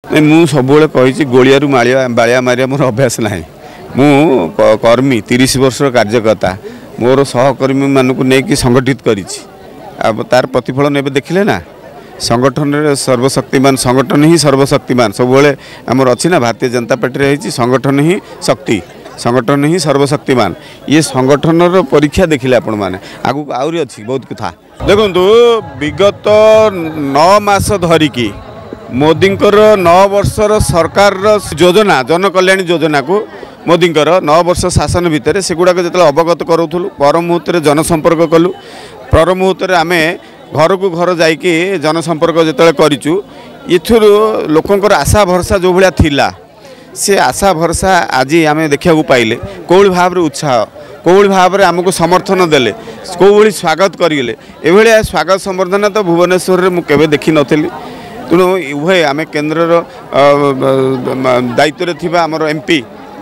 ମୁଁ ସବୁବେଳେ କହିଛି, ଗୋଳିଆରୁ ମାଳିଆ ବାଳିଆ ମାରିବା ମୋର ଅଭ୍ୟାସ ନାହିଁ। ମୁଁ କର୍ମୀ, 30 ବର୍ଷର କାର୍ଯ୍ୟକର୍ତ୍ତା, ମୋର ସହକର୍ମୀମାନଙ୍କୁ ନେଇକି ସଂଗଠିତ କରିଛି। ଆଉ ତାର ପ୍ରତିଫଳନ ଏବେ ଦେଖିଲେ ନା। ସଂଗଠନରେ ସର୍ବଶକ୍ତିମାନ, ସଂଗଠନ ହିଁ ସର୍ବଶକ୍ତିମାନ। ସବୁବେଳେ ଆମର ଅଛି ନା, ଭାରତୀୟ ଜନତା ପାର୍ଟିରେ ହେଇଛି, ସଂଗଠନ ହିଁ ଶକ୍ତି, ସଂଗଠନ ହିଁ ସର୍ବଶକ୍ତିମାନ। ଇଏ ସଂଗଠନର ପରୀକ୍ଷା ଦେଖିଲେ ଆପଣମାନେ। ଆଗକୁ ଆହୁରି ଅଛି ବହୁତ କଥା। ଦେଖନ୍ତୁ, ବିଗତ 9 ମାସ ଧରିକି ମୋଦିଙ୍କର 9 ବର୍ଷର ସରକାରର ଯୋଜନା, ଜନକଲ୍ୟାଣ ଯୋଜନାକୁ ମୋଦିଙ୍କର 9 ବର୍ଷ ଶାସନ ଭିତରେ ସେଗୁଡ଼ାକ ଯେତେବେଳେ ଅବଗତ କରାଉଥିଲୁ, ପର ମୁହୂର୍ତ୍ତରେ ଜନସମ୍ପର୍କ କଲୁ, ପର ମୁହୂର୍ତ୍ତରେ ଆମେ ଘରକୁ ଘର ଯାଇକି ଜନସମ୍ପର୍କ ଯେତେବେଳେ କରିଛୁ, ଏଥିରୁ ଲୋକଙ୍କର ଆଶା ଭରସା ଯେଉଁ ଭଳିଆ ଥିଲା, ସେ ଆଶା ଭରସା ଆଜି ଆମେ ଦେଖିବାକୁ ପାଇଲେ। କେଉଁଭଳି ଭାବରେ ଉତ୍ସାହ, କେଉଁଭଳି ଭାବରେ ଆମକୁ ସମର୍ଥନ ଦେଲେ, କେଉଁଭଳି ସ୍ୱାଗତ କରିଗଲେ, ଏଭଳିଆ ସ୍ୱାଗତ ସମ୍ବର୍ଦ୍ଧନା ତ ଭୁବନେଶ୍ୱରରେ ମୁଁ କେବେ ଦେଖିନଥିଲି। ତେଣୁ ଉଭୟ ଆମେ କେନ୍ଦ୍ରର ଦାୟିତ୍ୱରେ ଥିବା ଆମର ଏମ୍ ପି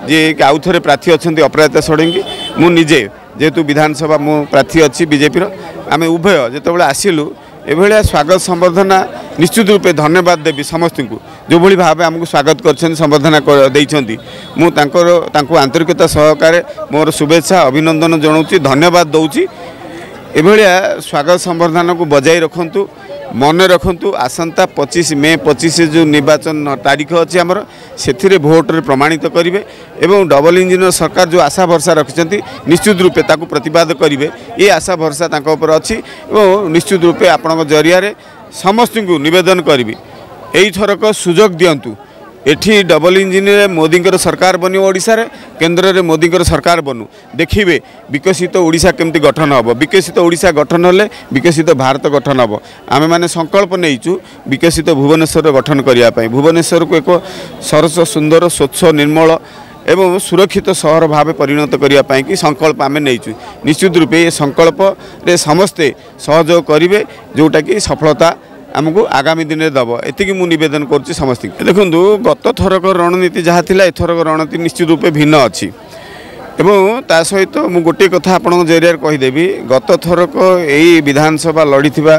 ଯିଏ ଆଉ ଥରେ ପ୍ରାର୍ଥୀ ଅଛନ୍ତି ଅପରାଜିତା ଷଡ଼ଙ୍ଗୀ, ମୁଁ ନିଜେ ଯେହେତୁ ବିଧାନସଭା ମୁଁ ପ୍ରାର୍ଥୀ ଅଛି ବିଜେପିର, ଆମେ ଉଭୟ ଯେତେବେଳେ ଆସିଲୁ ଏଭଳିଆ ସ୍ୱାଗତ ସମ୍ବର୍ଦ୍ଧନା, ନିଶ୍ଚିତ ରୂପେ ଧନ୍ୟବାଦ ଦେବି ସମସ୍ତଙ୍କୁ। ଯେଉଁଭଳି ଭାବେ ଆମକୁ ସ୍ୱାଗତ କରିଛନ୍ତି, ସମ୍ବର୍ଦ୍ଧନା ଦେଇଛନ୍ତି, ମୁଁ ତାଙ୍କର ତାଙ୍କୁ ଆନ୍ତରିକତା ସହକାରେ ମୋର ଶୁଭେଚ୍ଛା ଅଭିନନ୍ଦନ ଜଣାଉଛି, ଧନ୍ୟବାଦ ଦେଉଛି। ଏଭଳିଆ ସ୍ୱାଗତ ସମ୍ବର୍ଦ୍ଧନାକୁ ବଜାଇ ରଖନ୍ତୁ। ମନେ ରଖନ୍ତୁ, ଆସନ୍ତା 25 ମେ 25 ଯେଉଁ ନିର୍ବାଚନ ତାରିଖ ଅଛି ଆମର, ସେଥିରେ ଭୋଟରେ ପ୍ରମାଣିତ କରିବେ ଏବଂ ଡବଲ ଇଞ୍ଜିନ୍ର ସରକାର ଯେଉଁ ଆଶା ଭରସା ରଖିଛନ୍ତି, ନିଶ୍ଚିତ ରୂପେ ତାକୁ ପ୍ରତିବାଦ କରିବେ। ଏ ଆଶା ଭରସା ତାଙ୍କ ଉପରେ ଅଛି ଏବଂ ନିଶ୍ଚିତ ରୂପେ ଆପଣଙ୍କ ଜରିଆରେ ସମସ୍ତଙ୍କୁ ନିବେଦନ କରିବି, ଏଇଥରକ ସୁଯୋଗ ଦିଅନ୍ତୁ। ଏଠି ଡବଲ ଇଞ୍ଜିନ୍ରେ ମୋଦିଙ୍କର ସରକାର ବନିବ ଓଡ଼ିଶାରେ, କେନ୍ଦ୍ରରେ ମୋଦିଙ୍କର ସରକାର ବନୁ, ଦେଖିବେ ବିକଶିତ ଓଡ଼ିଶା କେମିତି ଗଠନ ହେବ। ବିକଶିତ ଓଡ଼ିଶା ଗଠନ ହେଲେ ବିକଶିତ ଭାରତ ଗଠନ ହେବ। ଆମେମାନେ ସଂକଳ୍ପ ନେଇଛୁ ବିକଶିତ ଭୁବନେଶ୍ୱର ଗଠନ କରିବା ପାଇଁ। ଭୁବନେଶ୍ୱରକୁ ଏକ ସରସ, ସୁନ୍ଦର, ସ୍ୱଚ୍ଛ, ନିର୍ମଳ ଏବଂ ସୁରକ୍ଷିତ ସହର ଭାବେ ପରିଣତ କରିବା ପାଇଁକି ସଂକଳ୍ପ ଆମେ ନେଇଛୁ। ନିଶ୍ଚିତ ରୂପେ ଏ ସଂକଳ୍ପରେ ସମସ୍ତେ ସହଯୋଗ କରିବେ, ଯେଉଁଟାକି ସଫଳତା ଆମକୁ ଆଗାମୀ ଦିନରେ ଦେବ। ଏତିକି ମୁଁ ନିବେଦନ କରୁଛି ସମସ୍ତଙ୍କୁ। ଦେଖନ୍ତୁ, ଗତ ଥରକ ରଣନୀତି ଯାହା ଥିଲା, ଏଥରକ ରଣନୀତି ନିଶ୍ଚିତ ରୂପେ ଭିନ୍ନ ଅଛି। ଏବଂ ତା ସହିତ ମୁଁ ଗୋଟିଏ କଥା ଆପଣଙ୍କ ଜରିଆରେ କହିଦେବି, ଗତ ଥରକ ଏଇ ବିଧାନସଭା ଲଢ଼ିଥିବା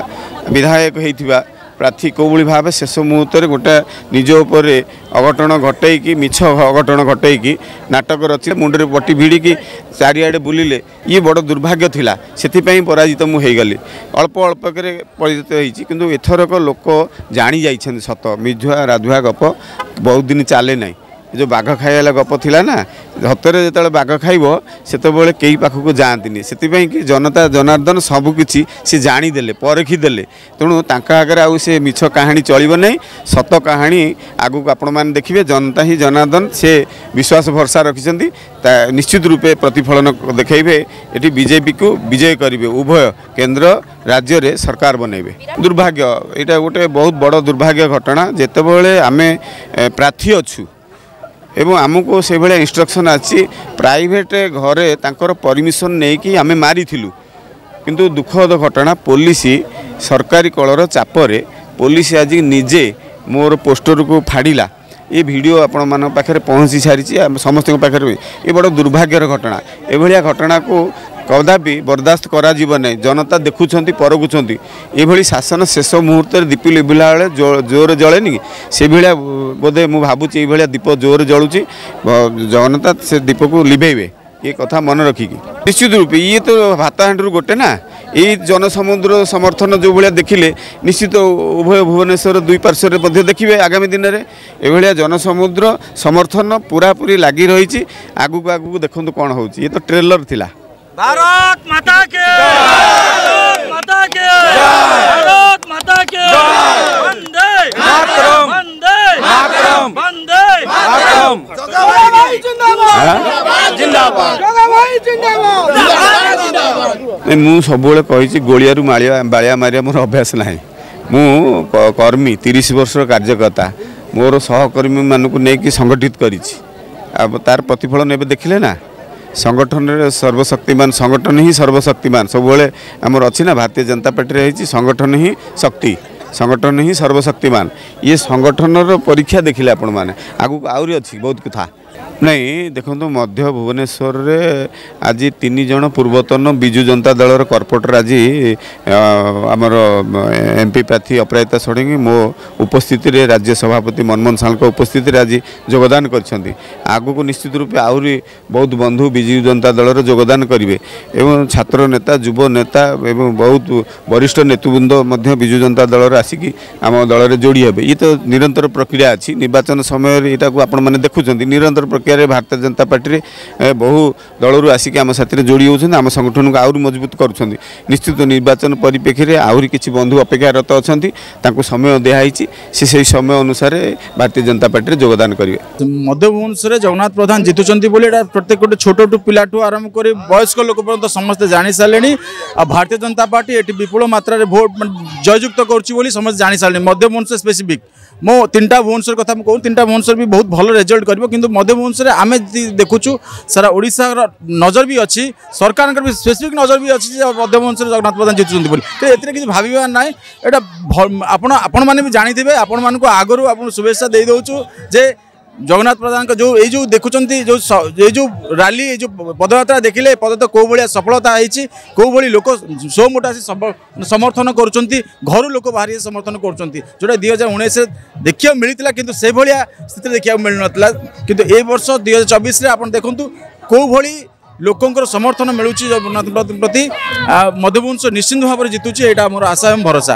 ବିଧାୟକ ହେଇଥିବା ପ୍ରାର୍ଥୀ କେଉଁଭଳି ଭାବେ ଶେଷ ମୁହୂର୍ତ୍ତରେ ଗୋଟେ ନିଜ ଉପରେ ଅଘଟଣ ଘଟେଇକି, ମିଛ ଅଘଟଣ ଘଟେଇକି ନାଟକ ରଚି ମୁଣ୍ଡରେ ପଟି ଭିଡ଼ିକି ଚାରିଆଡ଼େ ବୁଲିଲେ, ଇଏ ବଡ଼ ଦୁର୍ଭାଗ୍ୟ ଥିଲା। ସେଥିପାଇଁ ପରାଜିତ ମୁଁ ହେଇଗଲି, ଅଳ୍ପ ଅଳ୍ପକରେ ପରାଜିତ ହେଇଛି। କିନ୍ତୁ ଏଥରକ ଲୋକ ଜାଣି ଯାଇଛନ୍ତି ସତ। ମିଝୁଆ ରାଧୁଆ ଗପ ବହୁତ ଦିନ ଚାଲେ ନାହିଁ। ଏ ଯେଉଁ ବାଘ ଖାଇଲା ଗପ ଥିଲା ନା, ସତରେ ଯେତେବେଳେ ବାଘ ଖାଇବ ସେତେବେଳେ କେହି ପାଖକୁ ଯାଆନ୍ତିନି। ସେଥିପାଇଁ କି ଜନତା ଜନାର୍ଦ୍ଦନ ସବୁକିଛି ସେ ଜାଣିଦେଲେ, ପରଖିଦେଲେ। ତେଣୁ ତାଙ୍କ ଆଗରେ ଆଉ ସେ ମିଛ କାହାଣୀ ଚଳିବ ନାହିଁ। ସତ କାହାଣୀ ଆଗକୁ ଆପଣମାନେ ଦେଖିବେ। ଜନତା ହିଁ ଜନାର୍ଦ୍ଦନ, ସେ ବିଶ୍ୱାସ ଭରସା ରଖିଛନ୍ତି, ତା ନିଶ୍ଚିତ ରୂପେ ପ୍ରତିଫଳନ ଦେଖାଇବେ। ଏଠି ବିଜେପିକୁ ବିଜୟ କରିବେ, ଉଭୟ କେନ୍ଦ୍ର ରାଜ୍ୟରେ ସରକାର ବନେଇବେ। ଦୁର୍ଭାଗ୍ୟ, ଏଇଟା ଗୋଟେ ବହୁତ ବଡ଼ ଦୁର୍ଭାଗ୍ୟ ଘଟଣା। ଯେତେବେଳେ ଆମେ ପ୍ରାର୍ଥୀ ଅଛୁ ଏବଂ ଆମକୁ ସେଇଭଳିଆ ଇନଷ୍ଟ୍ରକ୍ସନ୍ ଆସିଛି, ପ୍ରାଇଭେଟ୍ ଘରେ ତାଙ୍କର ପରମିସନ୍ ନେଇକି ଆମେ ମାରିଥିଲୁ। କିନ୍ତୁ ଦୁଃଖଦ ଘଟଣା, ପୋଲିସ ସରକାରୀ କଳର ଚାପରେ ପୋଲିସ ଆଜି ନିଜେ ମୋର ପୋଷ୍ଟରକୁ ଫାଡ଼ିଲା। ଏ ଭିଡ଼ିଓ ଆପଣମାନଙ୍କ ପାଖରେ ପହଞ୍ଚି ସାରିଛି, ସମସ୍ତଙ୍କ ପାଖରେ। ଏ ବଡ଼ ଦୁର୍ଭାଗ୍ୟର ଘଟଣା। ଏଭଳିଆ ଘଟଣାକୁ କଦାପି ବରଦାସ୍ତ କରାଯିବ ନାହିଁ। ଜନତା ଦେଖୁଛନ୍ତି, ପରଖୁଛନ୍ତି। ଏଭଳି ଶାସନ ଶେଷ ମୁହୂର୍ତ୍ତରେ ଦୀପ ଲିଭିଲା ବେଳେ ଜୋରରେ ଜଳେନି କି, ସେଭଳିଆ ବୋଧେ ମୁଁ ଭାବୁଛି ଏଇଭଳିଆ ଦୀପ ଜୋରରେ ଜଳୁଛି। ଜନତା ସେ ଦୀପକୁ ଲିଭେଇବେ, ଏ କଥା ମନେ ରଖିକି। ନିଶ୍ଚିତ ରୂପେ ଇଏ ତ ଭାତ ହାଣ୍ଡିରୁ ଗୋଟେ ନା, ଏଇ ଜନସମୁଦ୍ର ସମର୍ଥନ ଯେଉଁ ଭଳିଆ ଦେଖିଲେ, ନିଶ୍ଚିତ ଉଭୟ ଭୁବନେଶ୍ୱର ଦୁଇ ପାର୍ଶ୍ୱରେ ମଧ୍ୟ ଦେଖିବେ ଆଗାମୀ ଦିନରେ ଏଭଳିଆ ଜନସମୁଦ୍ର ସମର୍ଥନ ପୁରାପୁରି ଲାଗି ରହିଛି। ଆଗକୁ ଆଗକୁ ଦେଖନ୍ତୁ କ'ଣ ହେଉଛି। ଇଏ ତ ଟ୍ରେଲର ଥିଲା। ଭାରତ ମାତା କେ, ଭାରତ ମାତା କେ, ଭାରତ ମାତା କେ, ବନ୍ଦେ ମାତରମ୍, ବନ୍ଦେ ମାତରମ୍, ବନ୍ଦେ ମାତରମ୍। ମୁଁ ସବୁବେଳେ କହିଛି, ଗୋଳିଆରୁ ମାଳିଆ ବାଳିଆ ମାରିବା ମୋର ଅଭ୍ୟାସ ନାହିଁ। ମୁଁ କର୍ମୀ, 30 ବର୍ଷର କାର୍ଯ୍ୟକର୍ତ୍ତା, ମୋର ସହକର୍ମୀମାନଙ୍କୁ ନେଇକି ସଂଗଠିତ କରିଛି। ଆଉ ତାର ପ୍ରତିଫଳନ ଏବେ ଦେଖିଲେ ନା। ସଂଗଠନରେ ସର୍ବଶକ୍ତିମାନ, ସଂଗଠନ ହିଁ ସର୍ବଶକ୍ତିମାନ। ସବୁବେଳେ ଆମର ଅଛି ନା, ଭାରତୀୟ ଜନତା ପାର୍ଟିରେ ହେଇଛି, ସଂଗଠନ ହିଁ ଶକ୍ତି, ସଂଗଠନ ହିଁ ସର୍ବଶକ୍ତିମାନ। ଇଏ ସଂଗଠନର ପରୀକ୍ଷା ଦେଖିଲେ ଆପଣମାନେ। ଆଗକୁ ଆହୁରି ଅଛି ବହୁତ କଥା। ନାଇଁ, ଦେଖନ୍ତୁ, ମଧ୍ୟ ଭୁବନେଶ୍ୱରରେ ଆଜି 3 ଜଣ ପୂର୍ବତନ ବିଜୁ ଜନତା ଦଳର କର୍ପୋରେଟର ଆଜି ଆମର ଏମ୍ପି ପ୍ରାର୍ଥୀ ଅପରାଜିତା ଷଡ଼ଙ୍ଗୀ, ମୋ ଉପସ୍ଥିତିରେ, ରାଜ୍ୟ ସଭାପତି ମନମୋହନ ସାଲଙ୍କ ଉପସ୍ଥିତିରେ ଆଜି ଯୋଗଦାନ କରିଛନ୍ତି। ଆଗକୁ ନିଶ୍ଚିତ ରୂପେ ଆହୁରି ବହୁତ ବନ୍ଧୁ ବିଜୁ ଜନତା ଦଳର ଯୋଗଦାନ କରିବେ ଏବଂ ଛାତ୍ର ନେତା, ଯୁବ ନେତା ଏବଂ ବହୁତ ବରିଷ୍ଠ ନେତୃବୃନ୍ଦ ମଧ୍ୟ ବିଜୁ ଜନତା ଦଳର ଆସିକି ଆମ ଦଳରେ ଯୋଡ଼ି ହେବେ। ଇଏ ତ ନିରନ୍ତର ପ୍ରକ୍ରିୟା ଅଛି। ନିର୍ବାଚନ ସମୟରେ ଏଇଟାକୁ ଆପଣମାନେ ଦେଖୁଛନ୍ତି। ନିରନ୍ତର ପ୍ରକ୍ରିୟାରେ ଭାରତୀୟ ଜନତା ପାର୍ଟିରେ ବହୁ ଦଳରୁ ଆସିକି ଆମ ସାଥିରେ ଯୋଡ଼ି ହେଉଛନ୍ତି, ଆମ ସଂଗଠନକୁ ଆହୁରି ମଜବୁତ କରୁଛନ୍ତି। ନିଶ୍ଚିତ ନିର୍ବାଚନ ପରିପ୍ରେକ୍ଷୀରେ ଆହୁରି କିଛି ବନ୍ଧୁ ଅପେକ୍ଷାରତ ଅଛନ୍ତି। ତାଙ୍କୁ ସମୟ ଦିଆହେଇଛି, ସେ ସେଇ ସମୟ ଅନୁସାରେ ଭାରତୀୟ ଜନତା ପାର୍ଟିରେ ଯୋଗଦାନ କରିବେ। ମଧ୍ୟ ଭୁବନେଶ୍ୱରରେ ଜଗନ୍ନାଥ ପ୍ରଧାନ ଜିତୁଛନ୍ତି ବୋଲି ଏଇଟା ପ୍ରତ୍ୟେକ ଗୋଟେ ଛୋଟଠୁ ପିଲାଠୁ ଆରମ୍ଭ କରି ବୟସ୍କ ଲୋକ ପର୍ଯ୍ୟନ୍ତ ସମସ୍ତେ ଜାଣି ସାରିଲେଣି। ଆଉ ଭାରତୀୟ ଜନତା ପାର୍ଟି ଏଠି ବିପୁଳ ମାତ୍ରାରେ ଭୋଟ ଜୟଯୁକ୍ତ କରୁଛି ବୋଲି ସମସ୍ତେ ଜାଣି ସାରିଲେଣି। ମଧ୍ୟ ଭୁବନେଶ୍ୱର ସ୍ପେସିଫିକ୍, ମୋ 3ଟା ଭୁବନେଶ୍ୱର କଥା ମୁଁ କହୁଛି, 3ଟା ଭୁବନେଶ୍ୱର ବି ବହୁତ ଭଲ ରେଜଲ୍ଟ କରିବ। କିନ୍ତୁ ମଧ୍ୟ ଭୁବନେଶ୍ୱରରେ ଆମେ ଦେଖୁଛୁ, ସାରା ଓଡ଼ିଶାର ନଜର ବି ଅଛି, ସରକାରଙ୍କର ବି ସ୍ପେସିଫିକ୍ ନଜର ବି ଅଛି ଯେ ମଧ୍ୟ ଭୁବନେଶ୍ୱରରେ ଜଗନ୍ନାଥ ପ୍ରଧାନ ଜିତୁଛନ୍ତି ବୋଲି। ତ ଏଥିରେ କିଛି ଭାବିବାର ନାହିଁ। ଏଇଟା ଆପଣ ଆପଣମାନେ ବି ଜାଣିଥିବେ। ଆପଣମାନଙ୍କୁ ଆଗରୁ ଆପଣ ଶୁଭେଚ୍ଛା ଦେଇଦେଉଛୁ ଯେ ଜଗନ୍ନାଥ ପ୍ରଧାନଙ୍କ ଯେଉଁ ଏଇ ଯେଉଁ ଦେଖୁଛନ୍ତି, ଯେଉଁ ଏଇ ଯେଉଁ ରାଲି, ଏଇ ଯେଉଁ ପଦଯାତ୍ରା ଦେଖିଲେ, ପଦଯାତ୍ରା କେଉଁ ଭଳିଆ ସଫଳତା ହେଇଛି, କେଉଁ ଭଳି ଲୋକ ସୋମୋଟ ଆସି ସମର୍ଥନ କରୁଛନ୍ତି, ଘରୁ ଲୋକ ବାହାରି ସମର୍ଥନ କରୁଛନ୍ତି, ଯେଉଁଟା 2019ରେ ଦେଖିବାକୁ ମିଳିଥିଲା କିନ୍ତୁ ସେଭଳିଆ ସ୍ଥିତିରେ ଦେଖିବାକୁ ମିଳୁନଥିଲା। କିନ୍ତୁ ଏ ବର୍ଷ 2024ରେ ଆପଣ ଦେଖନ୍ତୁ କେଉଁ ଭଳି ଲୋକଙ୍କର ସମର୍ଥନ ମିଳୁଛି ଜଗନ୍ନାଥ ପ୍ରତି। ମଧ୍ୟଭୁବନେଶ୍ୱର ନିଶ୍ଚିନ୍ତ ଭାବରେ ଜିତୁଛି, ଏଇଟା ଆମର ଆଶା ଏବଂ ଭରସା।